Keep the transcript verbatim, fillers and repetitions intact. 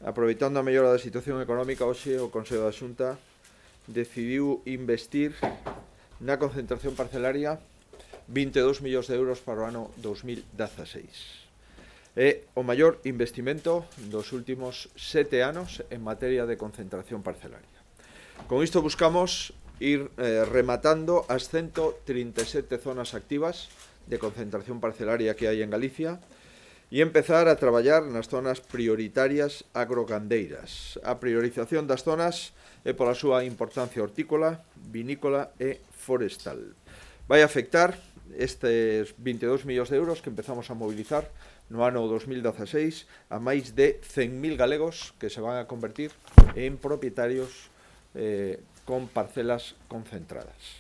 aproveitando a mellora da situación económica, hoxe o Consello da Xunta decidiu investir na concentración parcelaria vinte e dous millóns de euros para o ano dos mil dezaseis. É o maior investimento dos últimos sete anos en materia de concentración parcelaria. Con isto buscamos ir eh, rematando as ciento trinta e sete zonas activas de concentración parcelaria que hai en Galicia e empezar a traballar nas zonas prioritarias agrogandeiras. A priorización das zonas é pola súa importancia hortícola, vinícola e forestal. Vai afectar estes vinte e dous millóns de euros que empezamos a mobilizar no ano dos mil dezaseis a máis de cen mil galegos que se van a convertir en propietarios eh, con parcelas concentradas.